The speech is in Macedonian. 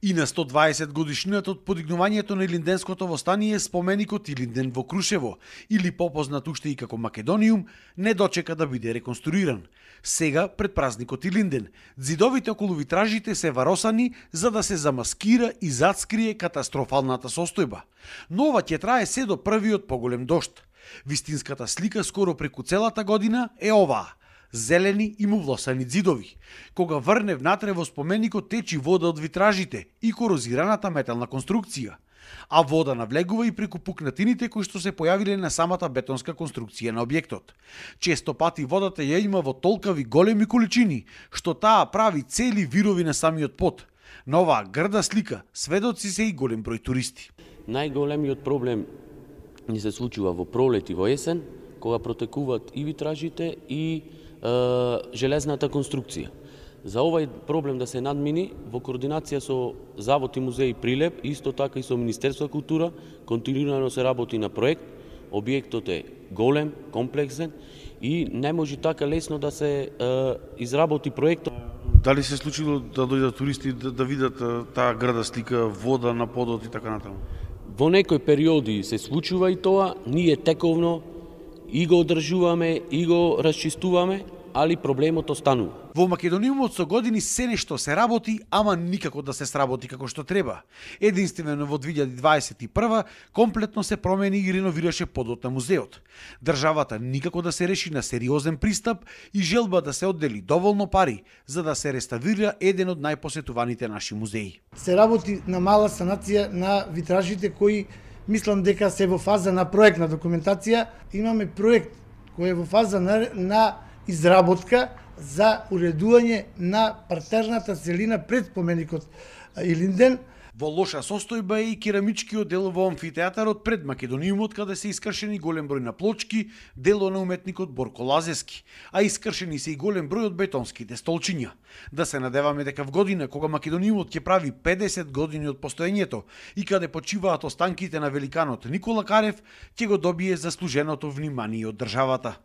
И на 120 годишнината од подигнувањето на Илинденското востание, споменикот Илинден во Крушево, или попознат уште и како Македониум, не дочека да биде реконструиран. Сега, пред празникот Илинден, ѕидовите околу витражите се варосани за да се замаскира и зацкрие катастрофалната состојба. Но ова ќе трае се до првиот поголем дожд. Вистинската слика скоро преку целата година е оваа: зелени и мувлосани ѕидови. Кога врне внатре во споменикот течи вода од витражите и корозираната метална конструкција, а вода навлегува и преку пукнатините кои што се појавиле на самата бетонска конструкција на објектот. Често пати водата ја има во толкави големи количини, што таа прави цели вирови на самиот под. На оваа грда слика сведоци се и голем број туристи. Најголемиот проблем ни се случува во пролет и во есен, кога протекуваат и витражите и железната конструкција. За овај проблем да се надмини, во координација со Завод и музеј Прилеп, исто така и со Министерство за култура, континуирано се работи на проект. Објектот е голем, комплексен и не може така лесно да се изработи проектот. Дали се случило да дојдат туристи да видат таа града слика, вода на подот и така натаму? Во некои периоди се случува и тоа, ние тековно и го одржуваме, и го расчистуваме, али проблемот останува. Во Македониумот со години се нешто се работи, ама никако да се сработи како што треба. Единствено во 2021 комплетно се промени и реновираше подот на музеот. Државата никако да се реши на сериозен пристап и желба да се оддели доволно пари за да се реставрира еден од најпосетуваните наши музеи. Се работи на мала санација на витражите кои мислам дека се во фаза на проектна документација. Имаме проект кој е во фаза на изработка за уредување на партерната целина пред споменикот Илинден. Во лоша состојба е и керамичкиот дел во амфитеатарот пред Македониумот, каде се искршени голем број на плочки, дело на уметникот Борко Лазески, а искршени се и голем број од бетонските столчиња. Да се надеваме дека в година кога Македониумот ќе прави 50 години од постоењето и каде почиваат останките на великанот Никола Карев, ќе го добие заслуженото внимание од државата.